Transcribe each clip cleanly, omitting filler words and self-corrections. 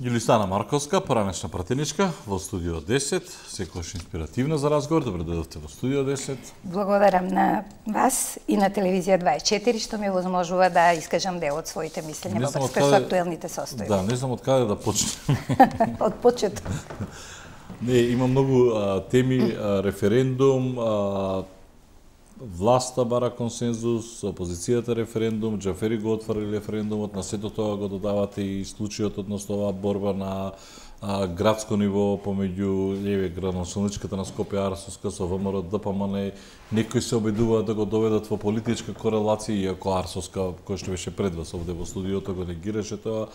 Јулисана Марковска, поранешна пратеничка во студио 10, секогаш инспиративна за разговор. Добре дојдовте во студио 10. Благодарам на вас и на телевизија 24 што ми возможува да искажам дел од своите мислења во врска со актуелните состојби. Да, не знам од каде да почнем. Од почеток. Не, има многу теми, референдум, власта бара консензус, опозицијата референдум, Џафери го отвори референдумот, на сето тоа го додавате и случајот односно оваа борба на градско ниво помеѓу градоначалничката на Скопје Арсовска со ВМРО ДПМН. Некои се обидуваат да го доведат во политичка корелација, иако Арсовска, кој што беше пред вас овде во студиото, го негираше тоа,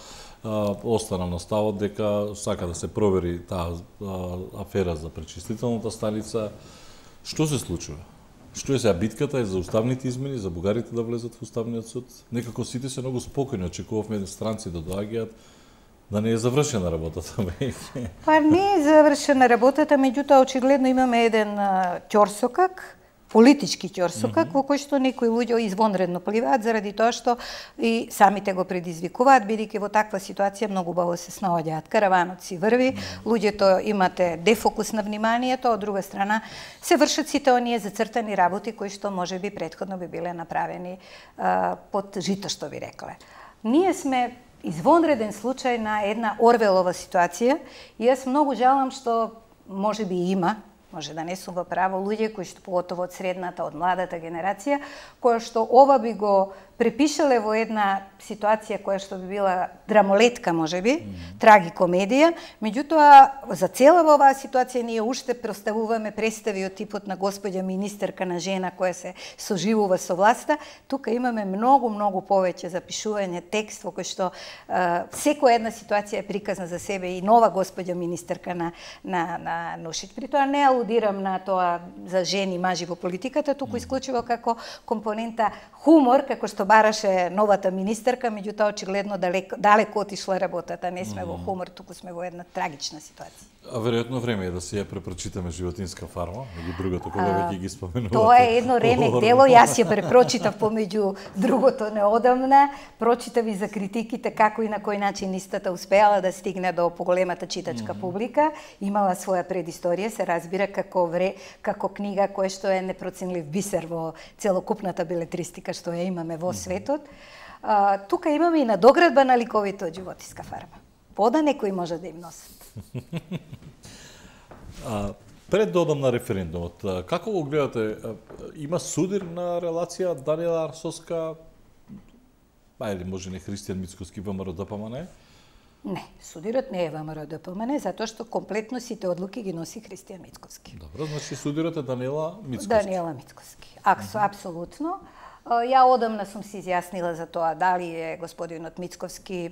остана на ставот дека сака да се провери таа афера за пречистителната станица. Што се случува? Што е сега битката е за уставните измени, за бугарите да влезат во уставниот суд? Некако сите се многу спокојни, очекувавме странци да доаѓаат, да не е завршена работата веќе. Па не е завршена работата, меѓутоа очигледно имаме еден ќорсокак, политички ќорсокак, во кој што некои луѓе извонредно пливаат заради тоа што и самите го предизвикуваат, бидејќи во таква ситуација многу убаво се снаоѓаат. Караванот си врви, луѓето имате дефокус на вниманието, од друга страна се вршат сите оние зацртани работи кои што можеби претходно би биле направени под жито, што ви рекле. Ние сме извонреден случај на една Орвелова ситуација и јас многу жалам што можеби има, може да не сум во право, луѓе кои што поготово од средната, од младата генерација, која што ова би го препишале во една ситуација која што би била драмолетка, можеби, трагикомедија, меѓутоа за цела оваа ситуација ние уште представуваме представи од типот на господја министерка на жена која се соживува со власта. Тука имаме многу повеќе запишување текст во кој што секоја една ситуација е приказна за себе и нова господја министерка на Нушиќ. При тоа не алудирам на тоа за жени, мажи во политиката, туку исклучиво како компонента хумор, како што бараше новата министерка, меѓутоа очигледно далеко отишла работата. Не сме во хумор, туку сме во една трагична ситуација. А веројатно време е да си ја препрочитаме Животинска фарма, или другото кога веќе ги споменувате. Тоа е едно ремек дело, јас ја препрочитав помеѓу другото неодамна, прочитав и за критиките како и на кој начин истата успеала да стигне до поголемата читачка публика, имала своја предисторија, се разбира како книга која што е непроценлив бисер во целокупната белетристика што ја имаме во светот. Тука имаме и надоградба на ликовите од Животинска фарма. Пода некои може да им носат. Пред да одам на референдумот, како го гледате? Има судирна релација Даниела Арсовска, или може не Христијан Мицковски, ВМРО ДПМН? Не, судирот не е ВМРО ДПМН, затоа што комплетно сите одлуки ги носи Христијан Мицковски. Добро, значи судирот е Даниела Мицковски. Даниела Мицковски, апсолутно. Ја одамна сум се изјаснила за тоа дали е господинот Мицковски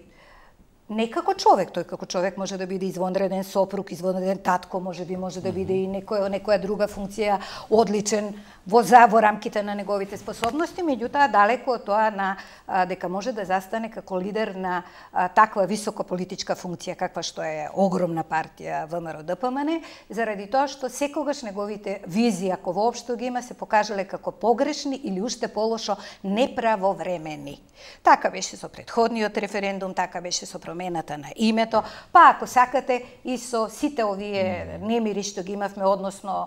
не како човек, тој како човек може да биде извонреден сопруг, извонреден татко, може да биде и некоја друга функција одличен во рамките на неговите способности, меѓутоа далеко од тоа дека може да застане како лидер на таква висока политичка функција каква што е огромна партија ВМРО ДПМН, заради тоа што секогаш неговите визии, ако воопшто ги има, се покажале како погрешни или уште полошо неправовремени. Така беше со претходниот референдум, така беше со промената на името, па ако сакате и со сите овие немири што ги имавме, односно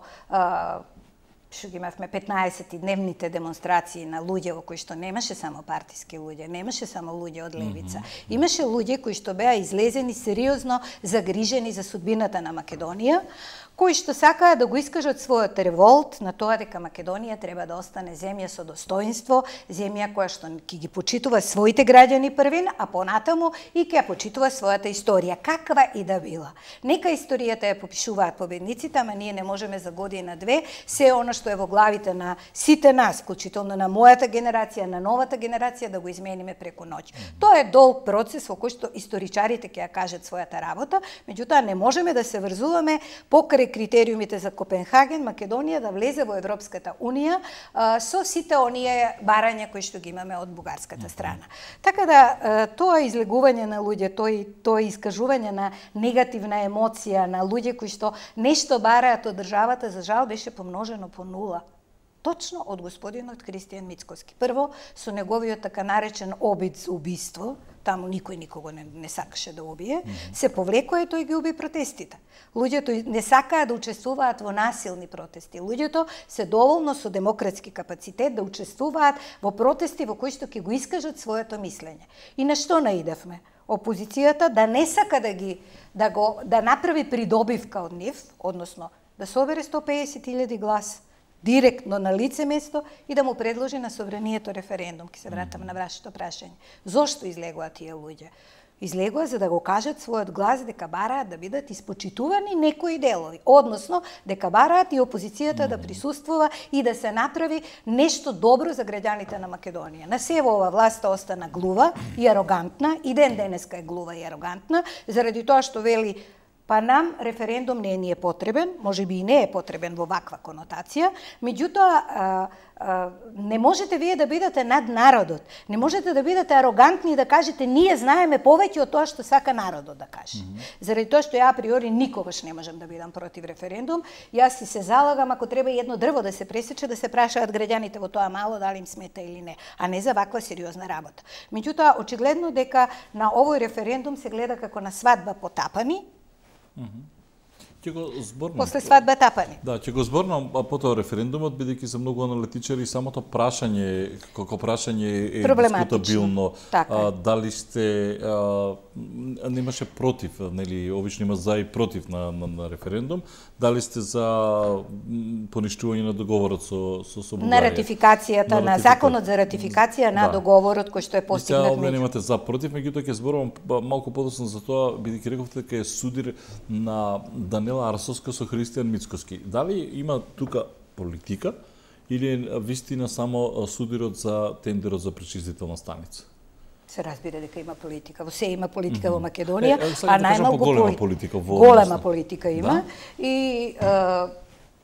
што ги имавме 15-дневните демонстрации на луѓе во кои што немаше само партиски луѓе, немаше само луѓе од левица. Имаше луѓе кои што беа излезени сериозно загрижени за судбината на Македонија, кои што сакаа да го искажат својот револт на тоа дека Македонија треба да остане земја со достоинство, земја која што ќе ги почитува своите граѓани првин, а понатаму и ќе ја почитува својата историја, каква и да била. Нека историјата ја попишуваат победниците, ама ние не можеме за година-две се она што е во главите на сите нас, вклучително на мојата генерација, на новата генерација, да го измениме преку ноќ. Тоа е долг процес во кој што историчарите ќе ја кажат својата работа, меѓутоа не можеме да се врзуваме покрај критериумите за Копенхаген, Македонија да влезе во Европската Унија со сите оние барања кои што ги имаме од бугарската страна. Така да тоа излегување на луѓе, тоа искажување на негативна емоција на луѓе кои што нешто бараат од државата, за жал беше помножено по 0. Точно од господинот Христијан Мицковски. Прво, со неговиот така наречен обид за убиство, таму никој никого не сакаше да убие, се повлекува и тој ги уби протестите. Луѓето не сакаат да учествуваат во насилни протести. Луѓето се доволно со демократски капацитет да учествуваат во протести во кои што ќе го искажат своето мислење. И на што наидевме? Опозицијата да не сака да направи придобивка од нив, односно да собере 150.000 глас директно на лице место и да му предложи на собранието референдум. Ке се вратам на вашето прашање. Зошто излегува тие луѓе? Излегува за да го кажат својот глас дека бараат да бидат испочитувани некои делови, односно дека бараат и опозицијата да присуствува и да се направи нешто добро за граѓаните на Македонија. На се ова власта остана глува и арогантна, и ден денеска е глува и арогантна, заради тоа што вели па нам референдум не ни е потребен, можеби и не е потребен во ваква конотација, меѓутоа не можете вие да бидете над народот. Не можете да бидете арогантни и да кажете ние знаеме повеќе од тоа што сака народот да каже. Заради тоа што ја априори никогаш не можам да бидам против референдум, јас си се залагам ако треба едно дрво да се пресече да се прашаат граѓаните во тоа мало дали им смета или не, а не за ваква сериозна работа. Меѓутоа очигледно дека на овој референдум се гледа како на свадба потапани. Ќе го зборнам. После свадба тапани. Да, ќе го зборнам потоа референдумот, бидејќи се многу аналитичари, самото прашање, како прашање е дискутабилно. Дали сте немаше против, нели, обично има за и против на референдум, дали сте за поништување на договорот со Бугарија? На ратификацијата, на законот за ратификација на договорот кој што е постигнат меѓу. Немате за против, меѓутоа ќе зборувам малку подоцна за тоа, бидејќи рековте дека е судир на Даниела Арсовска со Христијан Мицковски. Дали има тука политика или е вистина само судирот за тендерот за пречистителна станица? Се разбира дека има политика. Во се има политика во Македонија, а најмалку политика. Голема политика има. И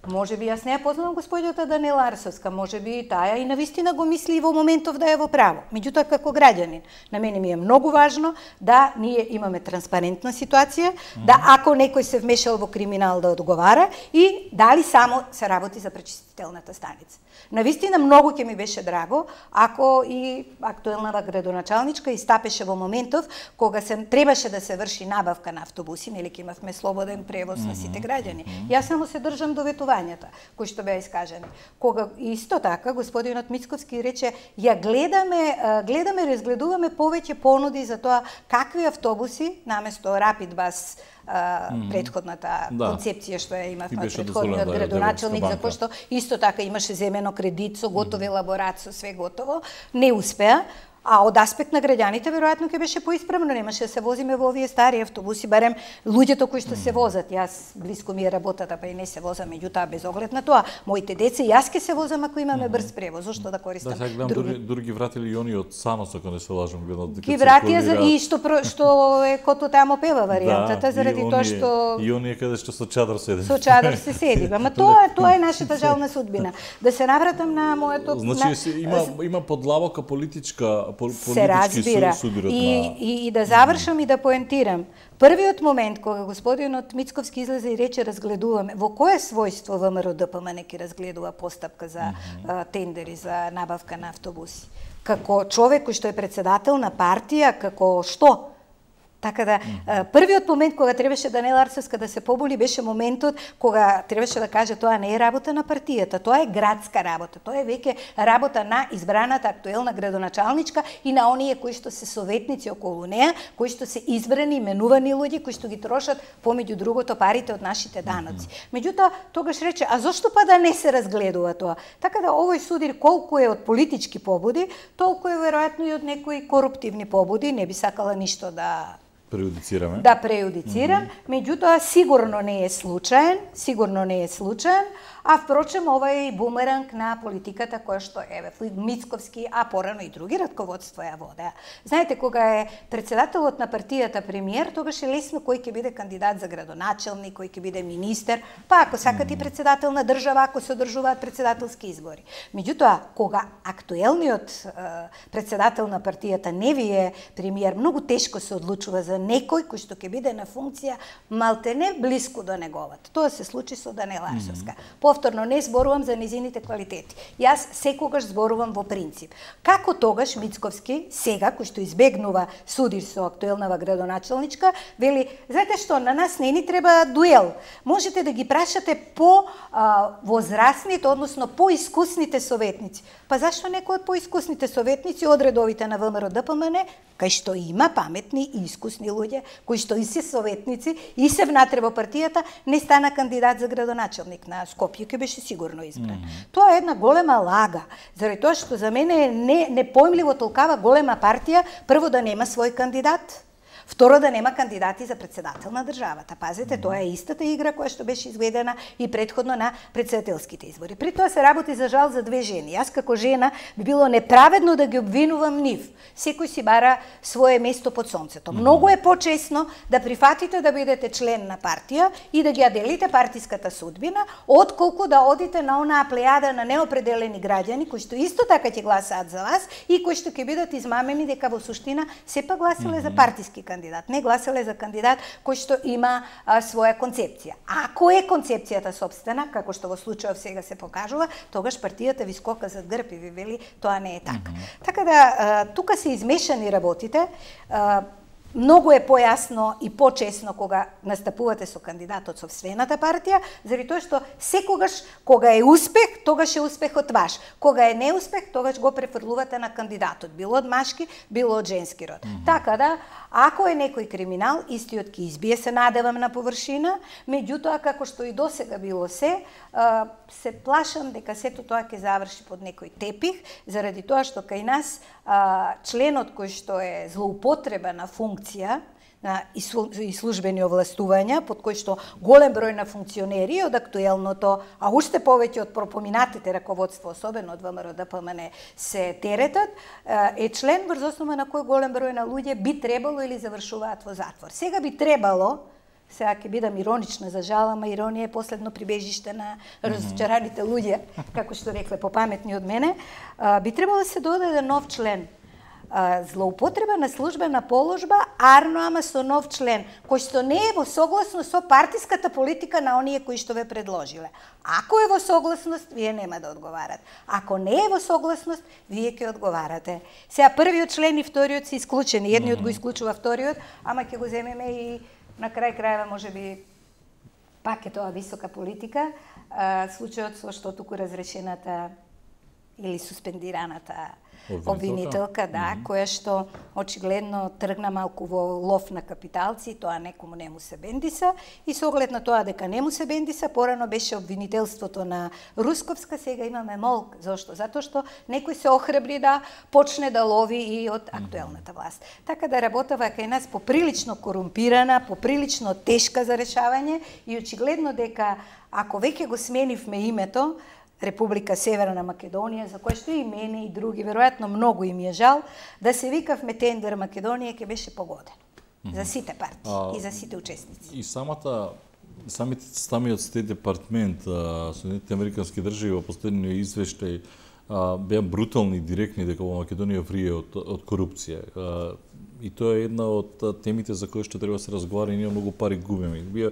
можеби јас не ја познавам господјата Даниела Арсовска, можеби таа и навистина го мисли и во моментов да е во право. Меѓутоа како граѓанин, на мене ми е многу важно да ние имаме транспарентна ситуација, да ако некој се вмешал во криминал да одговара и дали само се работи за пречистителната станица. Навистина многу ќе ми беше драго ако и актуелната градоначалничка истапеше во моментов кога се требаше да се врши набавка на автобуси, нели ќе имавме слободен превоз на сите граѓани. Јас само се држам до ветувањата кои што беа искажани. Кога исто така господинот Мицковски рече ја гледаме, разгледуваме повеќе понуди за тоа какви автобуси наместо Rapid Bus предходната концепција што ја имавме од предходниот градоначалник, за кој што исто така имаше земено кредит со готов елаборат, со све готово, не успеа. А од аспект на граѓаните веројатно ќе беше поисправно, немаше да се возиме во овие стари автобуси, барем луѓето кои што се возат. Јас блиско ми е работата, па и не се возам, меѓутоа без оглед на тоа, моите деца и јас ќе се возам ако имаме брз превоз, зошто да користам други. Дури вратили и они од Санос, ако не се лажам, гледат дека ги вратија и што е кото тамо пева варијантата, заради тоа што и оние каде што со чадар седи. Со чадар се седи, ама тоа е нашата жална судбина. Да се навратам на моето. Значи има подлабока политичка се разбира. И да завршам и да поентирам. Првиот момент кога господинот Мицковски излезе и рече разгледуваме, во кое својство ВМРО ДПМН ќе разгледува постапка за тендери за набавка на автобуси? Како човек кој што е председател на партија, како што? Така да, првиот момент кога требаше Даниела Арсовска да се побули беше моментот кога требаше да каже тоа не е работа на партијата, тоа е градска работа, тоа е веќе работа на избраната актуелна градоначалничка и на оние кои што се советници околу неа, кои што се избрани, именувани луѓе, кои што ги трошат помеѓу другото парите од нашите даноци. Меѓутоа, тогаш рече, а зошто па да не се разгледува тоа? Така да овој судир колку е од политички побуди, толку е веројатно и од некои коруптивни побуди, не би сакала ништо да преюдицираме. Да преюдицирам, меѓутоа сигурно не е случаен, а впрочем ова е и бумеранг на политиката која што еве Мицковски, а порано и други раководства ја водеа. Знаете, кога е председателот на партијата премиер, тогаш е лесно кој ќе биде кандидат за градоначалник, кој ќе биде министер, па ако сакат и председател на држава, ако се одржуваат председателски избори. Меѓутоа, кога актуелниот председател на партијата не ви е премиер, многу тешко се одлучува за некој кој што ќе биде на функција малтене блиску до неговата. Тоа се случи со Данела Арсовска. Повторно не зборувам за низините квалитети. Јас секогаш зборувам во принцип. Како тогаш Мицковски, сега кој што избегнува судир со актуелнава градоначалничка, вели, знаете што, на нас не ни треба дуел. Можете да ги прашате по возрастните, односно по искусните советници. Па зашто некој од поискусните советници од редовите на ВМРО ДПМН, кај што има паметни и искусни луѓе, кои што и се советници, и се внатре во партијата, не стана кандидат за градоначалник на Скопје, ќе беше сигурно избран. Тоа е една голема лага, заради тоа што за мене е непоимливо толкава голема партија, прво да нема свој кандидат, второ да нема кандидати за председател на државата. Пазете, тоа е истата игра која што беше изведена и претходно на председателските избори. При тоа се работи за жал за две жени. Јас како жена би било неправедно да ги обвинувам нив. Секој си бара свое место под сонцето. Многу е почесно да прифатите да бидете член на партија и да ги ја делите партиската судбина, отколку да одите на онаа плејада на неопределени граѓани кои што исто така ќе гласаат за вас и кои што ќе бидат измамени дека во суштина сепак гласале за партиски кандидат, не гласале за кандидат кој што има своја концепција. Ако е концепцијата сопствена, како што во случајов сега се покажува, тогаш партијата ви скока зад грб и ви вели тоа не е така. Така да тука се измешани работите. Многу е појасно и почесно кога настапувате со кандидатот сопствената партија, заради тоа што секогаш кога е успех, тогаш е успехот ваш. Кога е неуспех, тогаш го префрлувате на кандидатот, било од машки, било од женски род. Така да, ако е некој криминал, истиот ќе избие, се надевам, на површина, меѓутоа како што и досега било се плашам дека сето тоа ќе заврши под некој тепих, заради тоа што кај нас членот кој што е злоупотреба на функција и службени овластувања, под кој што голем број на функционери од актуелното, а уште повеќе од пропоминатите раководство, особено од ВМРО ДПМН, се теретат, е член врз основа на кој голем број на луѓе би требало или завршуваат во затвор. Сега би требало, сега ќе бидам иронична, за жал, ама иронија е последно прибежиште на разочараните луѓе, како што рекле попаметни од мене, би требало да се додаде нов член. Злоупотреба на службена положба, арно ама со нов член, кој што не е во согласност со партиската политика на оние кои што ве предложиле. Ако е во согласност, вие нема да одговарате. Ако не е во согласност, вие ќе одговарате. Сега првиот член и вториот се исклучени. Едниот го исклучува вториот, ама ќе го земеме и на крај крајва, можеби, пак е тоа висока политика, случајот со што туку разрешената или суспендираната обвинителка, да, која што очигледно тргна малку во лов на капиталци, тоа некому не му се бендиса, и со оглед на тоа дека не му се бендиса, порано беше обвинителството на Русковска, сега имаме молк. Зошто? Затоа што некој се охрабри да почне да лови и од актуелната власт. Така да работава кај нас поприлично корумпирана, поприлично тешка за решавање и очигледно дека ако веќе го сменивме името, Република Северна Македонија, за која што и мене и други, веројатно многу им е жал, да се викавме Тендер Македонија, ќе беше погодено. За сите партии и за сите учесници. И самиот Стейт департмент, Соединетите Американски држави во последниот извештај беа брутални и директни дека во Македонија врие од корупција. И тоа е една од темите за кои што треба да се разговара, и ние многу пари губиме.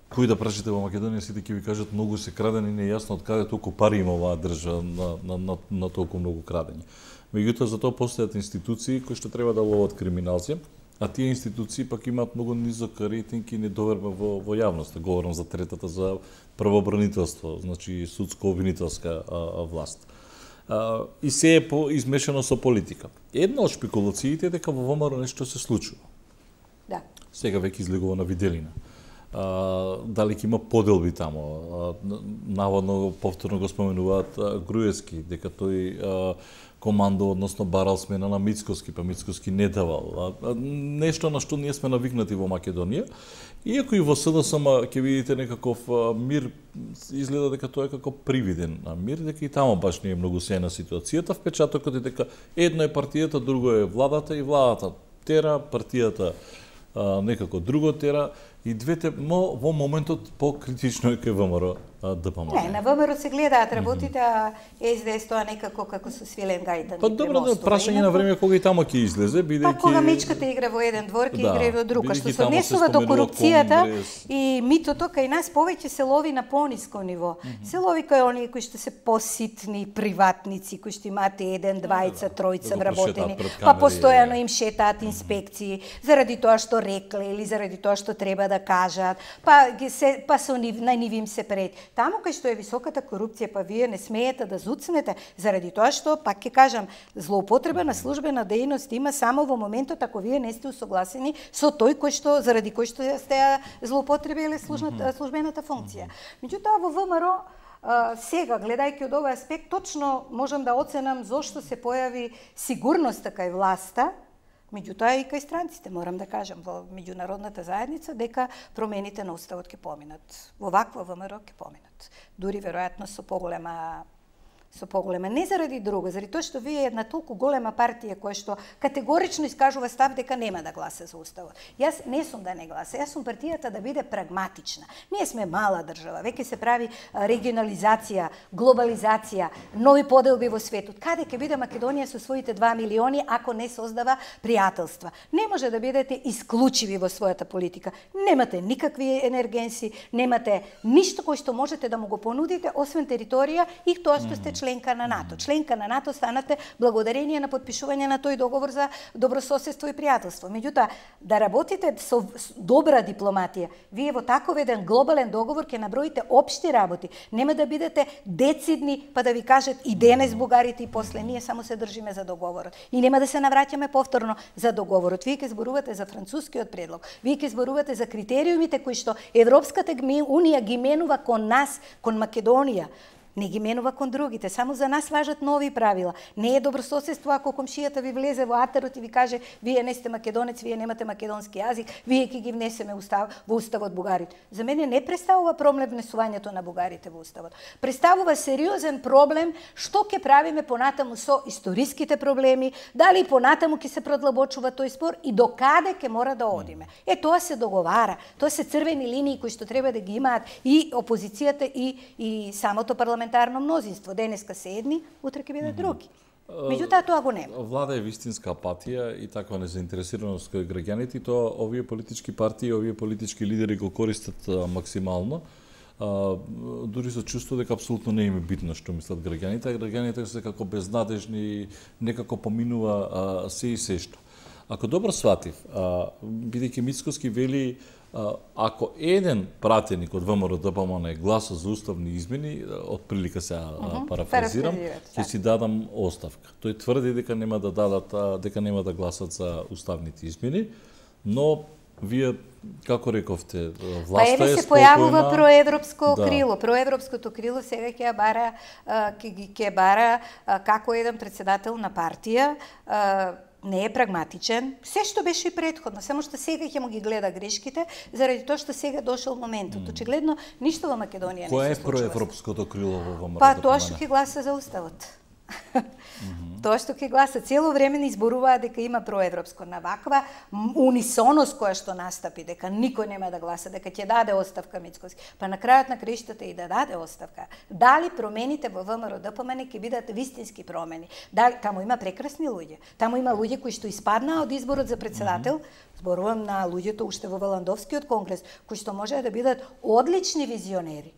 Кој да прашате во Македонија, сите ќе ви кажат многу се крадени, не е јасно од каде толку пари има оваа држава на толку многу крадење. Меѓутоа, за тоа постојат институции кои што треба да ловат криминалци, а тие институции пак имаат многу низок рейтинг и недоверба во јавноста. Говорам за третата, за правообранителство, значи судско-обвинителска власт. И се е измешано со политика. Една од шпекулациите е дека во ВМРО нешто се случува. Да. Сега веќе излегува на виделина. Дали ќе има поделби тамо. Наводно повторно го споменуваат Груевски, дека тој командо, односно барал смена на Мицковски, па Мицковски не давал. Нешто на што ние сме навикнати во Македонија. Иако и во СДСМ ќе видите некаков мир, изгледа дека тоа е како привиден мир, дека и тамо баш не е многу сејна ситуацијата. Впечатокот е дека едно е партијата, друго е владата, и владата тера, партијата некако друго тера, и двете во моментот покритично е кај ВМРО ДПМН. Не, на ВМРО се гледаат работите, а СДС тоа некако како со свилен гајдан. Па добро, да прашање на време кога и тамо ќе излезе, бидејќи Па кога мечката игра во еден двор, ќе игра и во друг, што се однесува до корупцијата и митото кај нас повеќе се лови на пониско ниво. Се лови кај оние кои што се поситни приватници, кои што имаат еден, двајца, тројца вработени, па постојано им шетаат инспекции заради тоа што рекле или заради тоа што треба да кажат, па со на нив им се пред. Таму кај што е високата корупција, па вие не смеете да зуцнете, заради тоа што, пак ќе кажам, злоупотреба на службена дејност има само во моментот ако вие не сте усогласени со тој кој што заради кој што сте злоупотребиле службената функција. Меѓутоа во ВМРО сега, гледајќи од овој аспект, точно можам да оценам зошто се појави сигурноста кај власта, меѓутоа и кај странците, морам да кажам, во меѓународната заедница, дека промените на уставот ќе поминат. Во ваква ВМРО ќе поминат. Дури веројатно со поголема, не заради друго, заради тоа што вие една толку голема партија која што категорично искажува став дека нема да гласа за уставот. Јас не сум да не гласа, јас сум партијата да биде прагматична. Ние сме мала држава, веќе се прави регионализација, глобализација, нови поделби во светот. Каде ќе биде Македонија со своите 2 милиони ако не создава пријателства? Не може да бидете исклучиви во својата политика. Немате никакви енергенси, немате ништо кој што можете да му го понудите освен територија и тоа што сте членка на НАТО. Членка на НАТО станате благодарение на подпишување на тој договор за добрососедство и пријателство. Меѓутоа, да работите со добра дипломатија, вие во таков еден глобален договор ќе наброите општи работи. Нема да бидете децидни па да ви кажат и денес бугарите и после ние само се држиме за договорот. И нема да се навраќаме повторно за договорот. Вие ќе зборувате за францускиот предлог. Вие ќе зборувате за критериумите кои што Европската унија ги менува кон нас, кон Македонија. Не ги менува кон другите, само за нас важат нови правила. Не е добрососедство ако комшијата ви влезе во атарот и ви каже вие не сте македонец, вие немате македонски јазик, вие ќе ги внесеме во уставот бугарите. За мене не представува проблем внесувањето на бугарите во уставот. Представува сериозен проблем што ќе правиме понатаму со историските проблеми, дали понатаму ќе се продлабочува тој спор и до каде ќе мора да одиме. Тоа се договара, тоа се црвени линии кои што треба да ги имаат и опозицијата и самото парламентарно мнозинство. Денеска се едни, утре ќе бидат други. Меѓутоа тоа го нема. Влада е вистинска апатија и таква незаинтересираност кај граѓаните, и тоа овие политички партии, овие политички лидери го користат максимално. Дури со чувство дека апсолутно не им е битно што мислат граѓаните, а граѓаните се како безнадежни, некако поминува се и се што. Ако добро сватив, бидејќи Мицковски вели ако еден пратеник од ВМРО ДПМН гласа за уставни измени, отприлика се парафразирам, ќе си дадам оставка. Тој тврди дека нема да гласат за уставните измени, но вие како рековте, власта е спокојна. Се појавува проевропско крило. Проевропското крило сега ќе бара како еден председател на партија, не е прагматичен, се што беше и претходно, само што сега ќе му ги гледа грешките, заради тоа што сега дошол моментот. Очигледно, ништо во Македонија не се случува. Кој е проевропското крило во ВМРО? Па тоа што ќе гласа за уставот. Тоа што ќе гласа цело време не изборуваа дека има проевропско, на ваква унисоност која што настапи, дека никој нема да гласа, дека ќе даде оставка Мицковски. Па на крајот на краиштата и да даде оставка. Дали промените во ВМРО ДПМН ќе бидат вистински промени? Дали таму има прекрасни луѓе. Таму има луѓе кои што испаднаа од изборот за председател. Зборувам на луѓето уште во Валандовскиот конгрес, кои што можеа да бидат одлични визионери,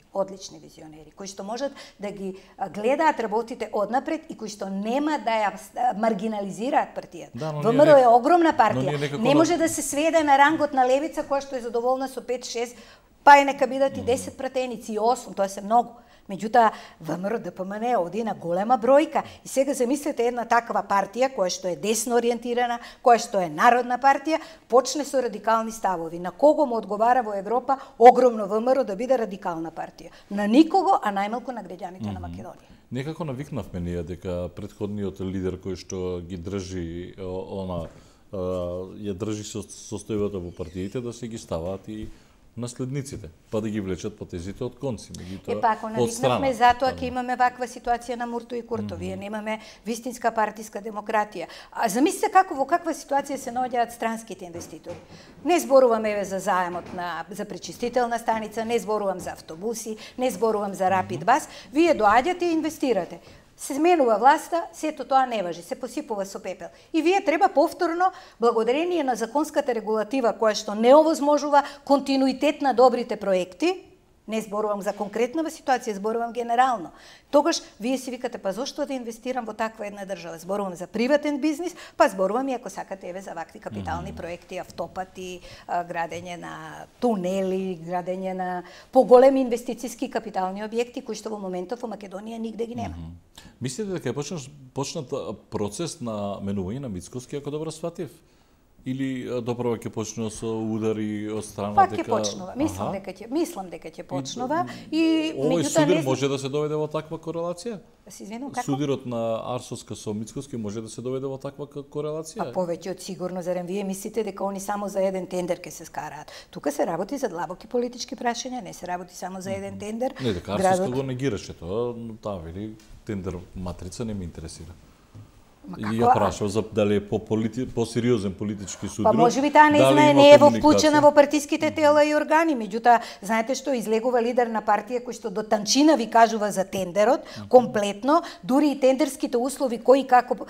кои што можат да ги гледаат работите однапред и кои што нема да ја маргинализираат партијата. ВМРО е огромна партија. Не може да се сведе на рангот на левица која што е задоволна со 5-6, па и нека бидат и 10 пратеници и 8, тоа се многу. Меѓутоа, ВМРО ДПМН оди на голема бројка. И сега замислете една таква партија, која што е десно ориентирана, која што е народна партија, почне со радикални ставови. На кого му одговара во Европа огромно ВМРО да биде радикална партија? На никого, а најмалку на граѓаните на Македонија. Некако навикнавме ние дека претходниот лидер кој што ги држи ја држи состојбата во партиите да се ги ставаат и наследниците, па да ги влечат потезите од конци, меѓутоа ако навикнавме затоа ќе имаме ваква ситуација на Мурто и Курто, вие немаме вистинска партиска демократија. А замислите во каква ситуација се наоѓаат странските инвеститори. Не зборувам за заемот за пречистителна станица, не зборувам за автобуси, не зборувам за Рапид Бас, вие доаѓате и инвестирате. Се сменува власта, сето тоа не важи, се посипува со пепел. И вие треба повторно, благодарение на законската регулатива која што не овозможува континуитет на добрите проекти, не зборувам за конкретна ситуација, зборувам генерално. Тогаш вие си викате, па зошто да инвестирам во таква една држава? Зборувам за приватен бизнис, па зборувам и ако сакате за вакви капитални проекти, автопати, градење на тунели, градење на поголеми инвестициски капитални објекти кои што во моментов во Македонија нигде ги нема. Мислите дека е почнат процес на менување на Мицковски, ако добро сватив? Или доправо ќе почнува со удари од страна дека... Па ќе почнува. Мислам дека ќе почнува и овој судир може да се доведе во таква корелација? Се извинувам, како? Судирот на Арсовска со Мицковски може да се доведе во таква корелација? А повеќе од сигурно, зарем вие мислите дека они само за еден тендер ќе се скараат? Тука се работи за длабоки политички прашања, не се работи само за еден тендер. Не, дека Арсовска го негираше тоа, но таа вели тендер матрица не ме интересира. И ја прашав за дали е по-сериозен политички судир. Па можеби таа не знае, не е вклучена во партиските тела и органи, меѓутоа знаете што излегува лидер на партија кој што до танчина ви кажува за тендерот, комплетно, дури и тендерските услови кои како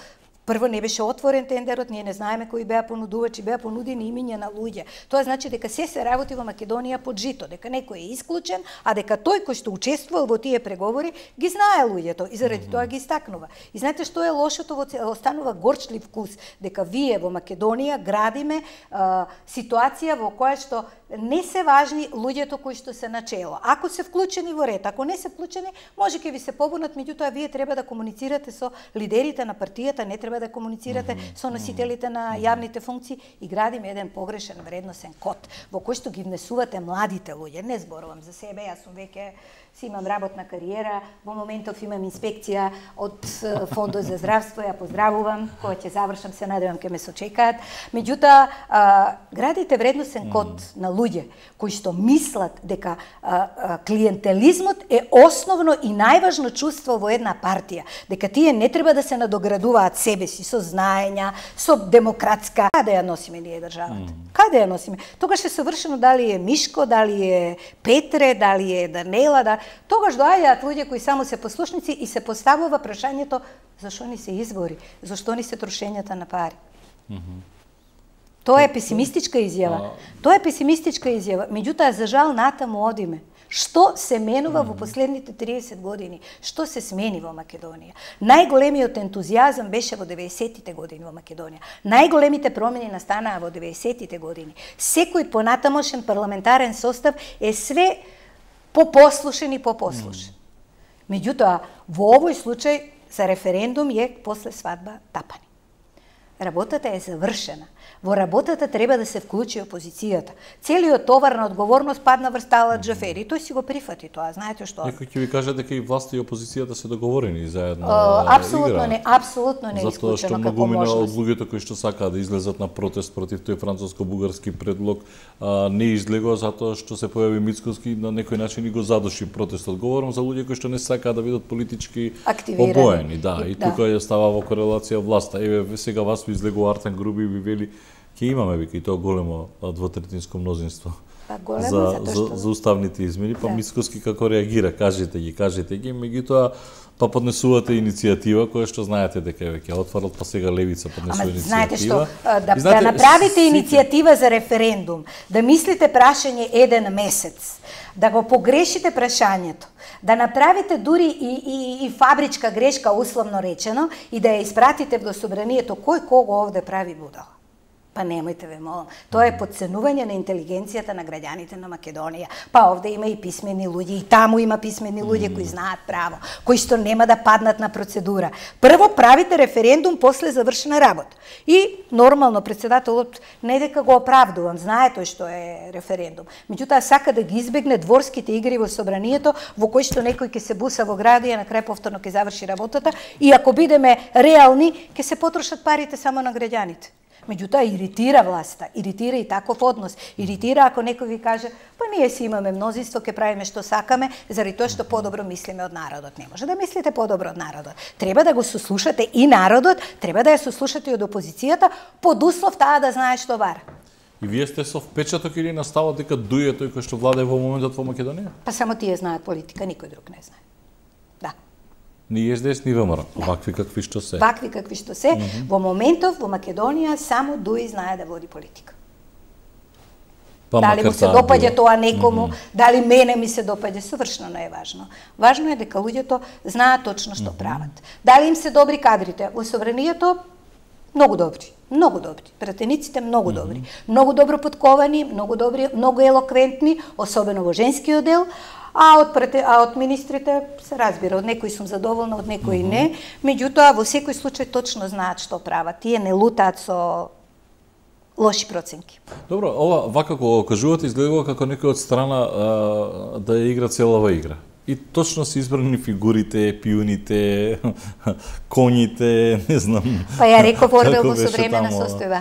прво не беше отворен тендерот, ние не знаеме кои беа понудувачи, беа понудени имиња на луѓе. Тоа значи дека се работи во Македонија под жито, дека некој е исклучен, а дека тој кој што учествувал во тие преговори ги знае луѓето и заради тоа ги истакнува. И знаете што е лошото, останува горчлив вкус, дека вие во Македонија градиме ситуација во која што не се важни луѓето кои што се начело. Ако се вклучени во ред, ако не се вклучени, може ќе ви се побунат, меѓутоа вие треба да комуницирате со лидерите на партијата, не треба да комуницирате со носителите на јавните функции и градиме еден погрешен вредносен код во кој што ги внесувате младите луѓе. Не зборувам за себе, јас сум веќе си имам работна кариера, во моментов имам инспекција од Фондот за здравство, ја поздравувам, кога ќе завршам се надевам ќе ме сочекаат. Меѓутоа, градите вредносен код на луѓе кои што мислат дека клиентелизмот е основно и најважно чувство во една партија, дека тие не треба да се надоградуваат себе си со знаења, со демократска. Каде ја носиме ние државата? Каде ја носиме? Тогаш е совршено дали е Мишко, дали е Петре, дали е Данела, тогаш доаѓаат луѓе кои само се послушници и се поставува прашањето зашто ни се избори, зашто ни се трошењата на пари. Тоа е песимистичка изјава. Тоа е песимистичка изјава. Меѓутоа, за жал, натаму одиме. Што се менува во последните 30 години? Што се смени во Македонија? Најголемиот ентузијазам беше во 90-тите години во Македонија. Најголемите промени настанаа во 90-тите години. Секој понатамошен парламентарен состав е све попослушен и попослушен. Меѓутоа, во овој случај за референдум е после свадба тапани. Работата е завршена. Во работата треба да се вклучи опозицијата. Целиот товар на одговорност падна врз Талат Џафери. Тој си го прифати тоа, знаете што? Некој ќе ви каже дека и власта и опозицијата се договорени заедно. Апсолутно не исклучено како можност. Затоа што многумина од луѓето кои што сакаат да излезат на протест против тој француско-бугарски предлог не излегоа затоа што се појави Мицковски на некој начин и го задуши протестот. Говорам за луѓе кои што не сакаат да бидат политички обоени, и тука ја става во корелација власта. Еве сега вас ви излегува Артан Груби и ви вели ќе имаме, вика, и тоа големо двотретинско мнозинство за уставните измени, па Мицковски како реагира, кажете ги, меѓутоа па поднесувате иницијатива која што знаете дека е веќе отворот, па сега Левица поднесува иницијатива. Знаете што, да направите иницијатива за референдум, да мислите прашање еден месец, да го погрешите прашањето, да направите дури и фабричка грешка, условно речено, и да ја испратите во собранието, кој кого овде прави будала? Па немојте ве молам. Тоа е потценување на интелигенцијата на граѓаните на Македонија. Па овде има и писмени луѓе, и таму има писмени луѓе кои знаат право, кои што нема да паднат на процедура. Прво правите референдум, после завршена работа. И нормално претседателот не дека го оправдувам, знае тој што е референдум. Меѓутоа сака да ги избегне дворските игри во собранието, во кои што некој ќе се буса во градија, на крај повторно ќе заврши работата, и ако бидеме реални, ќе се потрошат парите само на граѓаните. Меѓутоа, иритира власта, иритира и таков однос, иритира ако некој ви каже, па ние си имаме мнозинство, ќе правиме што сакаме, заради тоа што подобро мислиме од народот. Не може да мислите подобро од народот. Треба да го сослушате и народот, треба да ја сослушате и од опозицијата, под услов таа да знае што бара. И вие сте со впечаток или на ставот дека дуе тој кој што владее во моментот во Македонија? Па само тие знаат политика, никој друг не знае. Да. Ни СДС, ни ВМРО, вакви какви што се. Вакви какви што се. Во моментов во Македонија само Дуи знае да води политика. Па, дали му се допаѓа тоа некому, дали мене ми се допаѓа, совршено не е важно. Важно е дека луѓето знаат точно што прават. Дали им се добри кадрите? Во собранието многу добри. Многу добри. Пратениците многу добри. Многу добро подковани, многу добри, многу елоквентни, особено во женскиот дел, а од министрите се разбира, од некои сум задоволна, од некои не, меѓутоа во секој случај точно знаат што прават. Тие не лутаат со лоши проценки. Добро, ова вака кога кажувате изгледува како некој од страна да ја игра целава игра. И точно се избрани фигурите, пиуните, коњите, не знам. Па ја реков Орвел во современа состојба.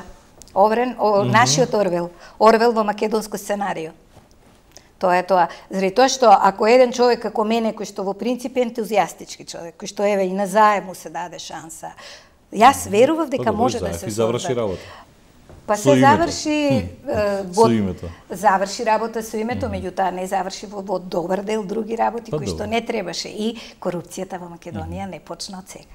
Нашиот Орвел. Орвел во македонско сценарио. Тоа е тоа. Заради тоа што ако еден човек како мене, кој што во принцип е ентузијастички човек, кој што еве и на заем му се даде шанса, јас верував дека може да се заврши работа. Па се заврши со името. Заврши работа со името, меѓутоа не заврши во добар дел други работи кои што не требаше, и корупцијата во Македонија не почна од сега.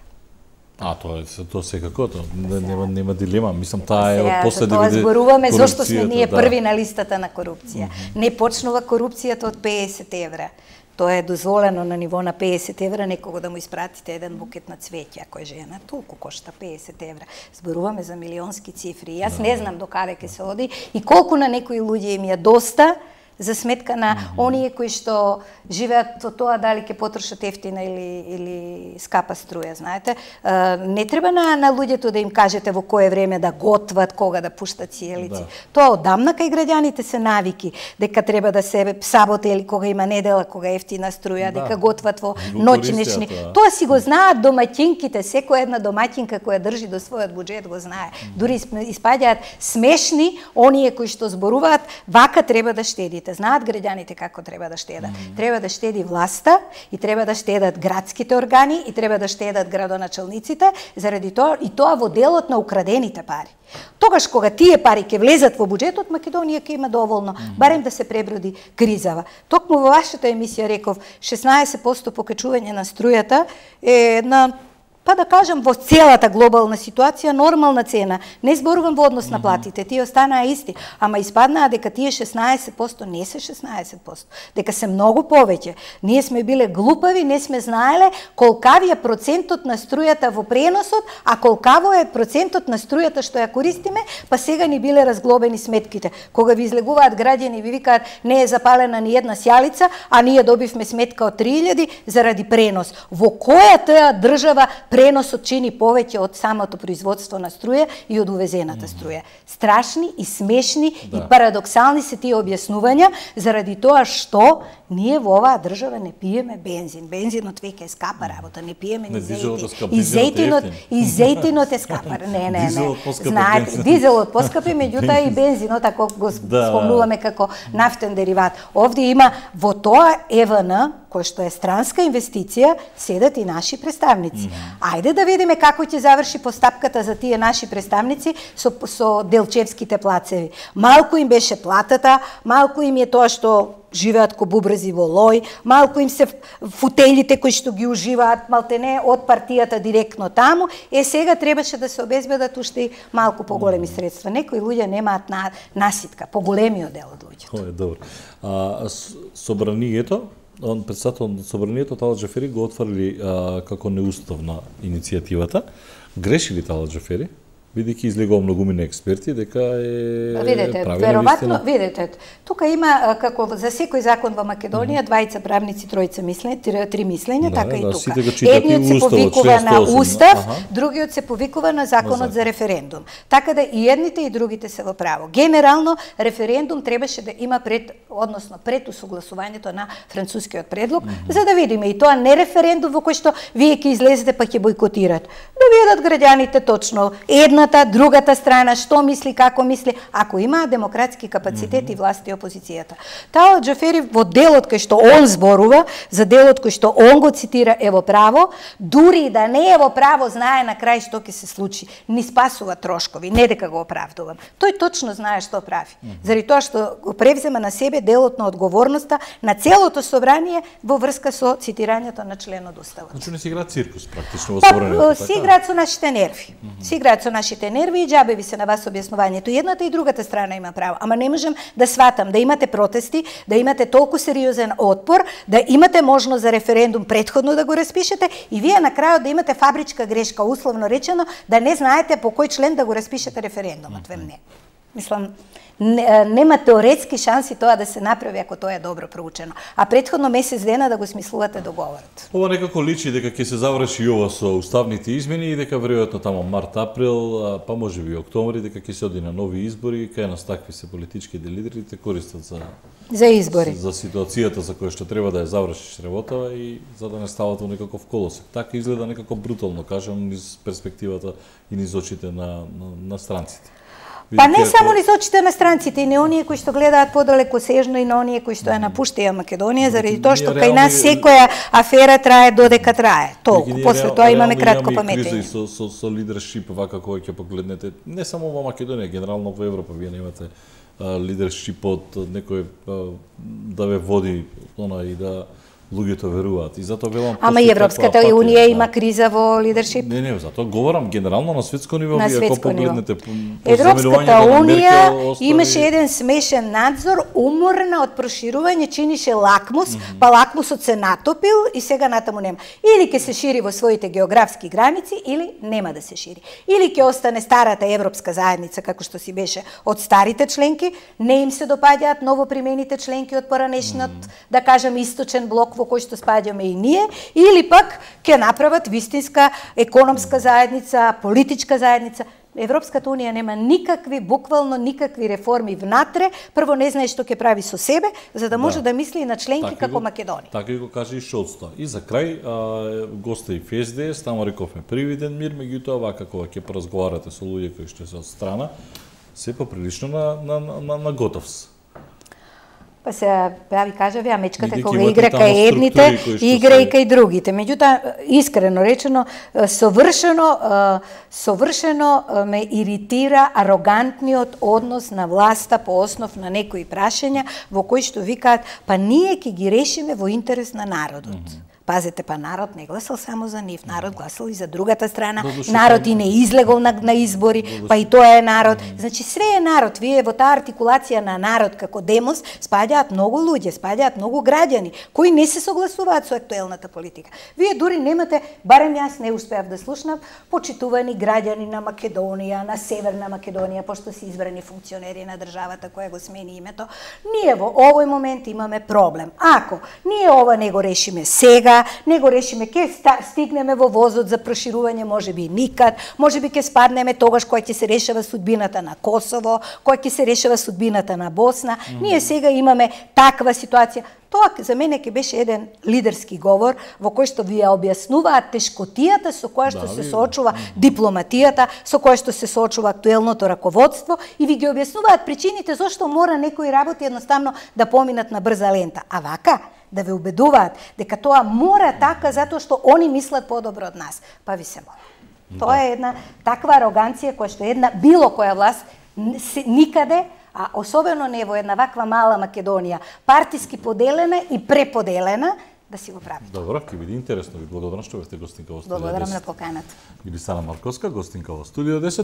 Тоа секако, нема дилема. Мислам, таа е од после 90. Тоа зборуваме зошто сме ние први на листата на корупција. Не почнува корупцијата од 50 евра. Тоа е дозволено на ниво на 50 евра некого да му испратите еден букет на цвеќе, ако е жена, толку кошта 50 евра. Зборуваме за милионски цифри. Јас не знам до каде ќе се оди и колку на некои луѓе им ја доста за сметка на оние кои што живеат во тоа дали ќе потрошат ефтина или скапа струја, знаете. Не треба на луѓето да им кажете во кое време да готват, кога да пуштат сиелици. Тоа одамна кај граѓаните се навики, дека треба да се сабота или кога има недела, кога е ефтина струја, дека готват во ноќнични. Тоа си го знаат домаќинките, секоја една домаќинка која држи до својот буџет го знае. Дури испаѓаат смешни оние кои што зборуваат, вака треба да штедите. Знаат граѓаните како треба да штедат. Треба да штеди власта и треба да штедат градските органи и треба да штедат градоначалниците, заради тоа и тоа во делот на украдените пари. Тогаш кога тие пари ќе влезат во буџетот, Македонија ќе има доволно, барем да се преброди кризава. Токму во вашата емисија реков 16% покачување на струјата е една, па да кажам, во целата глобална ситуација нормална цена. Не зборувам во однос на платите, тие останаа исти, ама испаднаа дека тие 16% не се 16%, дека се многу повеќе. Ние сме биле глупави, не сме знаеле колкави е процентот на струјата во преносот, а колкаво е процентот на струјата што ја користиме, па сега ни биле разглобени сметките. Кога ви излегуваат граѓани и ви викаат не е запалена ни една сјалица, а ние добивме сметка од 3000 заради пренос. Во која таа држава преносот чини повеќе од самото производство на струја и од увезената струја? Страшни и смешни и парадоксални се тие објаснувања, заради тоа што ние во оваа држава не пиеме бензин. Бензинот веќе е скапа работа, не пиеме ни зејтин. И зејтинот е скапа. Не. Знаете, дизелот поскапи, меѓутоа и бензинот, ако го спомнуваме како нафтен дериват. Овде има во тоа ЕВН, кој што е странска инвестиција, седат и наши представници. Ајде да видиме како ќе заврши постапката за тие наши представници со делчевските плацеви. Малку им беше платата, малку им е тоа што живеат ко бубрези во лој, малку им се футелите кои што ги уживаат малтене од партијата директно таму, сега требаше да се обезбедат уште малку поголеми средства. Некои луѓе немаат наситка, поголемиот дел од луѓето. Тоа е добро. Собранието, председател на собранието Талат Џафери го отврли како неуставна иницијативата. Греши ли Талат Џафери? Бидејќи излегува многумина експерти дека е видете, веројатно, видете, тука има како за секој закон во Македонија двајца правници, тројца мислење, три мислења, така и тука. Едниот се повикува на устав, другиот се повикува на законот за референдум. Така да и едните и другите се во право. Генерално референдум требаше да има пред усогласувањето на францускиот предлог, за да видиме и тоа не референдум во кој што вие ќе излезете па ќе бойкотират. Да видат граѓаните точно една судбината, другата страна, што мисли, како мисли, ако има демократски капацитет и власт и опозицијата. Таа Џафери во делот кој што он зборува, за делот кој што он го цитира е во право, дури да не е во право, знае на крај што ќе се случи. Ни спасува трошкови, не дека го оправдувам. Тој точно знае што прави. Заради тоа што го превзема на себе делот на одговорноста на целото собрание во врска со цитирањето на член од Уставот. Значи не си играат циркус практично во собранието, така? Си играат со нашите нерви. Си играат со нашите нерви и џабе ви се на вас објаснувањето. Едната и другата страна има право. Ама не можам да сватам да имате протести, да имате толку сериозен отпор, да имате можност за референдум претходно да го распишете и вие на крајот да имате фабричка грешка, условно речено, да не знаете по кој член да го распишете референдумот. Не. Мислам, нема теоретски шанси тоа да се направи ако тоа е добро проучено. А претходно месец дена да го смислувате договорот. Ова некако личи дека ќе се заврши ова со уставните измени и дека веројатно тамо март-април, па можеби октомври, дека ќе се оди на нови избори, кај нас такви се политичките лидерите користат за избори. За ситуацијата за која што треба да ја завршиш работава и за да не стават во некаков колосек. Така изгледа некако брутално, кажам, низ перспективата и низ очите на странците. Па не само низ очите на странците, и не оние кои што гледаат подалекосежно и на оние кои што ја напуштаја Македонија, заради тоа што кај нас секоја афера трае додека трае. Толку, после тоа имаме кратко паметење. Со лидершип, вака кој ќе погледнете, не само во Македонија, генерално во Европа, вие немате лидершип од некој да ве води и да луѓето веруваат. И затоа велам ама и Европската унија има криза во лидершип. Не, затоа говорам генерално на светско ниво, вие ако погледнете Европската унија имаше еден смешен надзор, уморна од проширување, чинише лакмус, па лакмусот се натопил и сега натаму нема. Или ќе се шири во своите географски граници, или нема да се шири. Или ќе остане старата европска заедница како што си беше од старите членки, не им се допаѓаат новопримените членки од поранешниот, да кажам, источен блок во кој што спаѓаме и ние, или пак ќе направат вистинска економска заедница, политичка заедница. Европската унија нема никакви, буквално никакви реформи внатре, прво не знае што ќе прави со себе, за да може да мисли и на членки како Македонија. Така го кажа и Шолц. И за крај, гости в СДС, тамо рековме привиден мир, меѓутоа вака кога ќе поразговарате со луѓе кои што се од страна, се поприлично на готовс. Па се, ја ви кажа, ја мечката кога игра кај едните, игра и кај другите. Меѓутоа, искрено речено, совршено ме иритира арогантниот однос на власта по основ на некои прашања во кои што викаат, па ние ќе ги решиме во интерес на народот. Пазете, па народ не гласал само за нив, народ гласал и за другата страна, народ и не излегол на избори, па и тоа е народ. Значи, све е народ. Вие во таа артикулација на народ како демос спаѓаат многу луѓе, спаѓаат многу граѓани, кои не се согласуваат со актуелната политика. Вие дури немате, барем јас не успеав да слушнав, почитувани граѓани на Македонија, на Северна Македонија, пошто се избрани функционери на државата која го смени името. Ние во овој момент имаме проблем. Ако ние ова не го решиме сега, не го решиме, ќе стигнеме во возот за проширување, можеби никад, можеби ќе спаднеме тогаш кој ќе се решава судбината на Косово, кој ќе се решава судбината на Босна. Ние сега имаме таква ситуација. Тоа за мене ќе беше еден лидерски говор во кој што ви ја објаснуваат тешкотијата со која што се соочува дипломатијата, со која што се соочува актуелното раководство и ви ги објаснуваат причините зошто мора некои работи едноставно да поминат на брза лента. А вака да ве убедуваат дека тоа мора така затоа што они мислат подобро од нас. Па ви се молам. Тоа е една таква ароганција која што една било која власт никаде, а особено не во една ваква мала Македонија, партиски поделена и преподелена, да си го прави. Добро, ќе биде интересно. Ви благодарам што бевте гостинка во студио 10. Благодарам на поканата. Илисана Марковска, гостинка во студио 10.